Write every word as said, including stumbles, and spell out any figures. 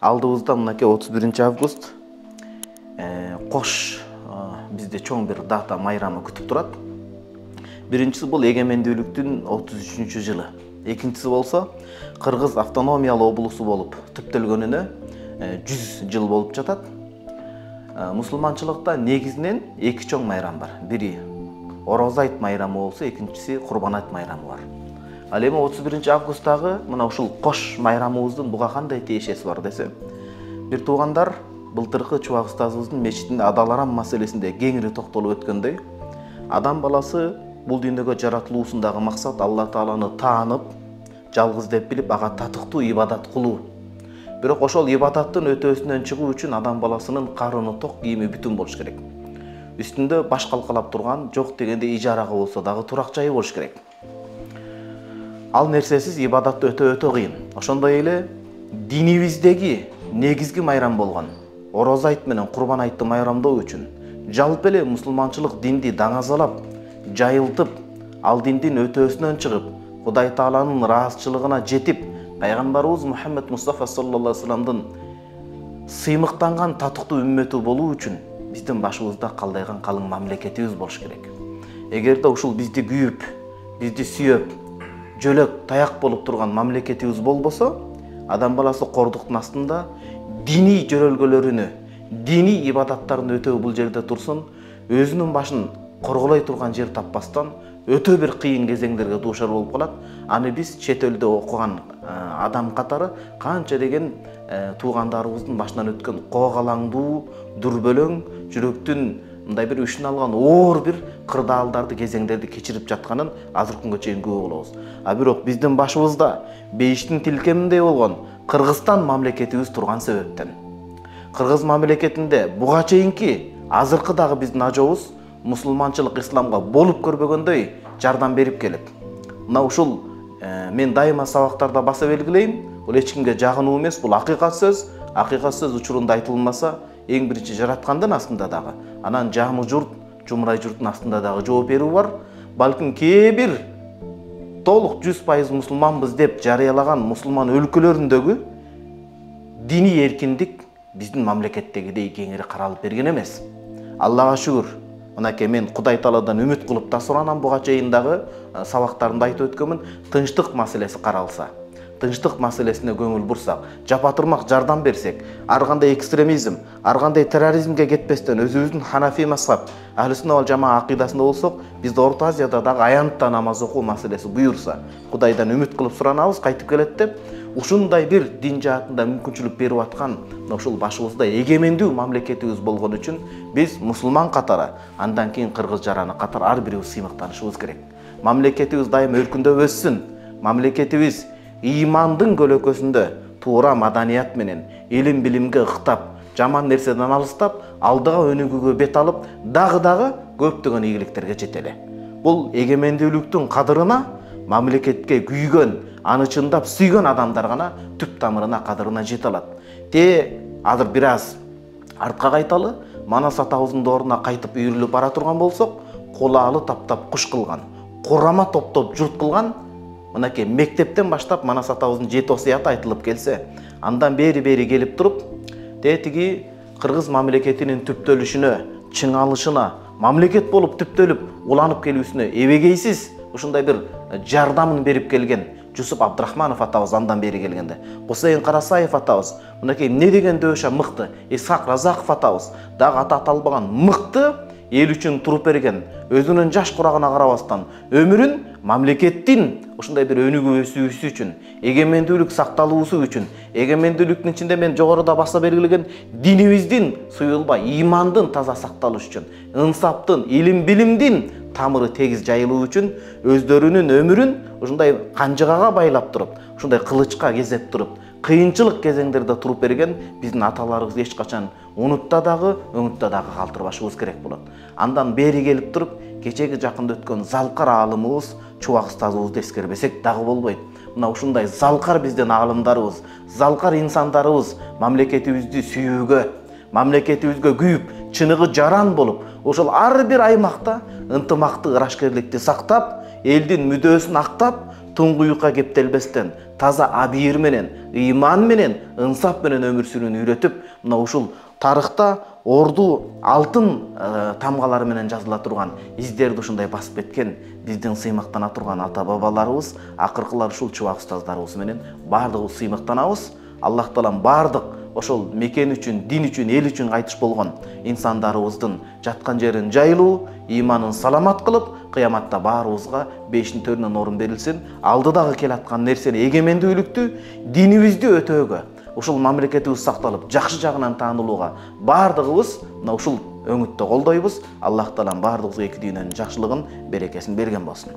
Алдыбызда мынакей отуз биринчи август кош бизде чоң бир дата майрамы күтүп турат. Биринчиси бул эгемендүүлүктүн отуз үчүнчү жылы. Экинчиси болсо Кыргыз автономиялуу облусу болуп түптөлгөнүнө жүз жыл болуп жатат. Мусулманчылыкта негизинен эки чоң майрам бар. Бири Ороз айт майрамы болсо, экинчиси Курбан айт майрамы бар. Ал эми отуз биринчи августтагы мына ушул кош майрамыбыздын буга кандай тиешеси бар десе, бир туугандар былтыркы Чубак устазыбыздын мечитинде Адал Арам маселесинде кеңири токтолуп өткөндөй, адам баласы бул дүйнөгө жаратылуусундагы максат Алла Тааланы таанып, жалгыз деп билип, ага татыктуу ибадат кылуу. Бирок ошол ибадаттын өтөөсүнөн чыгуу үчүн адам баласынын карыны ток, кийими бүтүн болуш керек. Үстүндө баш калкалап турган, жок дегенде ижарага болсо дагы турак жайы болуш керек. Ал нерсесиз ибадат өтө өтө кыйын. Ошондой эле динибиздеги негизги майрам болгон Ороз айт менен Курбан айтты майрамдоо үчүн жалпы эле мусулманчылык динди даңазалап, жайылтып, ал диндин өтөөсүнөн чыгып, Кудай Тааланын ыраазычылыгына жетип, пайгамбарыбыз Мухаммед Мустафа саллаллаху алейхи вассаламдын сыймыктанган татыктуу үммөтү болуу үчүн биздин башыбызда калдайган калың мамлекетибиз болуш керек. Эгерде ушул бизди күйүп, бизди сүйөп, жөлөк таяк болуп турган мамлекетибиз болбосо, адам баласы кордуктун астында диний жөрөлгөлөрүнө, диний ибадаттарын өтөө бул жерде турсун, өзүнүн башын корголой турган жер таппастан өтө бир кыйын кезеңдерге дуушар болуп калат. Аны биз чет элде окуган адам катары канча деген туугандарыбыздын башынан өткөн коогалаңдуу, дүрбөлөң, жүрөктүн мындай бир үшүн алган оор бир кырдаалдарды, кезеңдерди кечирип жатканын азыр күнгө чейин күбө болобуз. А бирок биздин башыбызда бейиштин тилкеминдей болгон Кыргызстан мамлекетибиз турган себептен, Кыргыз мамлекетинде буга чейинки азыркы дагы биздин ажообуз мусулманчылык исламга болуп көрбөгөндөй жардам берип келет. Мына ушул мен дайыма сабактарда баса белгилейм, бул эч кимге жагынуу эмес, бул акыйкат сөз. Акыйкат сөз учурунда айтылмаса, эң биринчи жараткандын астында дагы, анан жамы журт, жумрай журттун астында дагы жооп берүү бар. Балким кээ бир толук жүз пайыз мусулманбыз деп жарыялаган мусулман өлкөлөрүндөгү диний эркиндик биздин мамлекеттегидей кеңири каралып берген эмес. Аллага шүгүр. Мынакей мен Кудай Тааладан үмүт кылып да суранам, буга чейин дагы сабактарымда айтып өткөнмүн, тынчтык маселеси каралса, тынчтык маселесине көңүл бурсак, жапатырмак жардам берсек, ар кандай экстремизм, ар кандай терроризмге кетпестен өзүбүздүн Ханафи мазхаб, Ахлы-сунна вал жамаа акыйдасында болсок, бизде Орто Азияда дагы аянтта намаз окуу маселеси буюрса, Кудайдан үмүт кылып суранабыз, кайтып келет деп, ушундай бир дин жаатында мүмкүнчүлүк берип аткан ушул башыбызда эгемендүү мамлекетибиз болгон үчүн биз мусулман катары, андан кийин кыргыз жараны катары ар бирибиз сыймыктанышыбыз керек. Мамлекетибиз дайым өркүндөп өссүн. Мамлекетибиз ыймандын көлөкөсүндө туура маданият менен, илим билимге ыктап, жаман нерседен алыстап, алдыга өнүгүүгө бет алып, дагы-дагы көптөгөн ийгиликтерге жетеле. Бул эгемендүүлүктүн кадырына, мамлекетке күйгөн, аны чындап сүйгөн адамдар гана түп тамырына, кадырына жете алат. Те азыр бир аз артка кайталы, Манас атабыздын дооруна кайтып үйрүлүп бара турган болсок, кулаалы таптап куш кылган, курама топтоп журт кылган, мынакей мектептен баштап Манас атабыздын жети осуяты айтылып келсе, андан бери-бери келип туруп, тетиги Кыргыз мамлекетинин түптөлүшүнө, чыңалышына, мамлекет болуп түптөлүп, уланып келүүсүнө эбегейсиз ушундай бир жардамын берип келген Жусуп Абдрахманов атабыз андан бери келгенде, Кусейин Карасаев атабыз, мынакей эмне деген дөшө мыкты, Исхак Разаков атабыз, дагы аты аталбаган мыкты эл үчүн туруп берген, өзүнүн жаш курагына карабастан өмүрүн мамлекеттин ушундай бир өнүгүү өсүүсү үчүн, эгемендүүлүк сакталуусу үчүн, эгемендүүлүктүн ичинде мен жогоруда баса белгилеген динибиздин суюлбай, имандын таза сакталышы үчүн, ынсаптын, илим билимдин тамыры тегиз жайылуу үчүн өздөрүнүн өмүрүн ушундай канжыгага байлап туруп, ушундай кылычка кезеп туруп, кыйынчылык кезеңдерде туруп берген биздин аталарыбызды эч качан унутта дагы, өңүттө дагы калтырбашыбыз керек болот. Андан бери келип туруп, кечеги жакында өткөн залкар аалымыбыз Чубак устазыбызды эскербесек дагы болбойт. Мына ушундай залкар биздин аалымдарыбыз, залкар инсандарыбыз мамлекетибизди сүйүүгө, мамлекетибизге күйүп, чыныгы жаран болуп, ошол ар бир аймакта ынтымактык ырашкерликти сактап, элдин мүдөөсүн актап, туңгуюкка кептелбестен, таза абийир менен, ыйман менен, ынсап менен өмүр сүрүүнү үйрөтүп, мына ушул тарыхта орду алтын тамгалары менен жазыла турган издерди ушундай басып кеткен биздин сыймыктана турган ата бабаларыбыз, акыркылар ушул чубак устаздарыбыз менен баардыгыбыз сыймыктанабыз. Аллах таалам баардык ошол мекен үчүн, дин үчүн, эл үчүн кайтыш болгон инсандарыбыздын жаткан жерин жайлуу, ыйманын саламат кылып, кыяматта баарыбызга бештин төрүнөн орун берилсин. Алдыдагы келаткан нерсени эгемендүүлүктү, динибизди өтөөгө, ушул мамлекетибиз сакталып, жакшы жагынан таанылууга баардыгыбыз мына ушул өңүттө колдойбуз. Аллах таалам баардыгыбызга эки дүйнөнүн жакшылыгын, берекесин берген болсун.